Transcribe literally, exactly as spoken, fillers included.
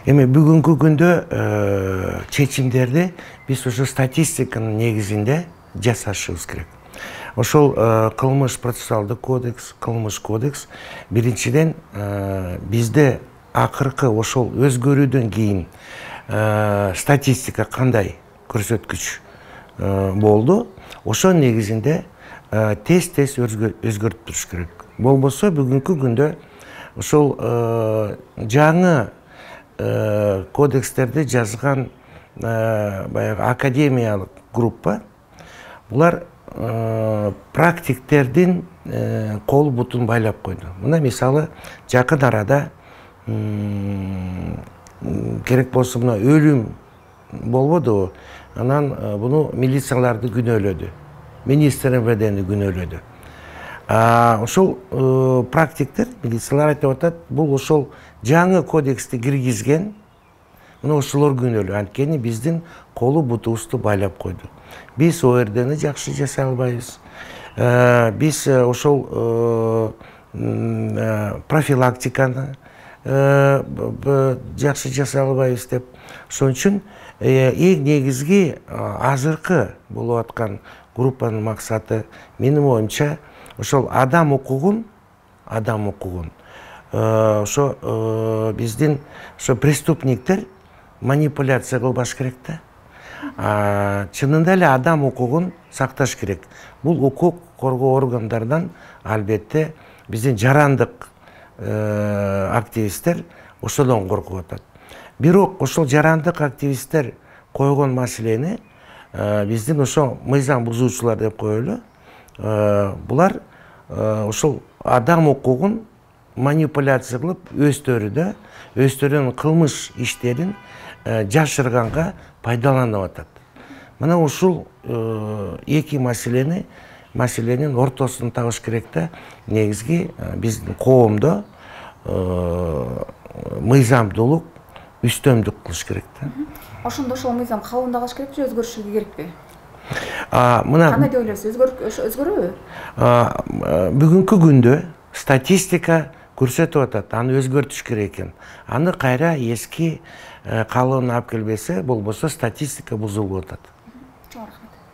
Эми бүгүнкү күндө чечимдерди биз ушу статистиканын негизинде жасашыбыз керек. Ошол кылмыш процессуалдык кодекс, кылмыш кодекс биринчиден бизде акыркы ошол өзгөрүүдөн кийин статистика кандай көрсөткүч болду, ошо негизинде тез-тез өзгөртүп туруш керек. Болбосо бүгүнкү күндө ошол жаңы кодекстерди жазган баягы академиялык группа булар практиктердин кол бутун байлап койду. Мына мисалы жакын арада керек болсо мына өлүм болбодубу, анан буну милицияларды күнөөлөдү, министр МВДни күнөөлөдү. Ошол практиктер, милициялар айтып атат, бул ошол жаңы кодексти киргизген, мына ошолор күнөөлүү, анткени биздин колу бутубузду байлап койду. Биз О Р Дни жакшы жасай албайбыз. Биз ошол профилактиканы жакшы жасай албайбыз деп. Ошон үчүн эң негизги азыркы болуп аткан группанын максаты, менин оюмча, ошол адам укугун, адам укугун ошо биздин ошо преступниктер манипуляция кылбаш керек да. Чынында эле адам укугун сакташ керек. Бул укук коргоо органдарынан албетте биздин жарандык активисттер ошодон коркуп атат. Бирок ошол жарандык активисттер койгон маселени биздин ошо мыйзам бузуучулар деп коелу. Булар ошол адам укугун манипуляция кылып, өздөрү өздөрүнүн кылмыш иштерин жашырганга пайдаланып атат. Мына ушул эки маселени маселенин ортосун табыш керек да. Негизги биздин коомдо мыйзамдуулук үстөмдүк кылыш керек да. Ошондо ошол мыйзам калыбында калыш керек же өзгөрүшү керекпи? Мына кандай деп ойлойсуз? Өзгөрөбү? Бүгүнкү күндө статистика көрсөтүп атат, аны өзгөртүш керек экен. Аны кайра эски калыбына алып келбесе, болбосо статистика бузулуп атат.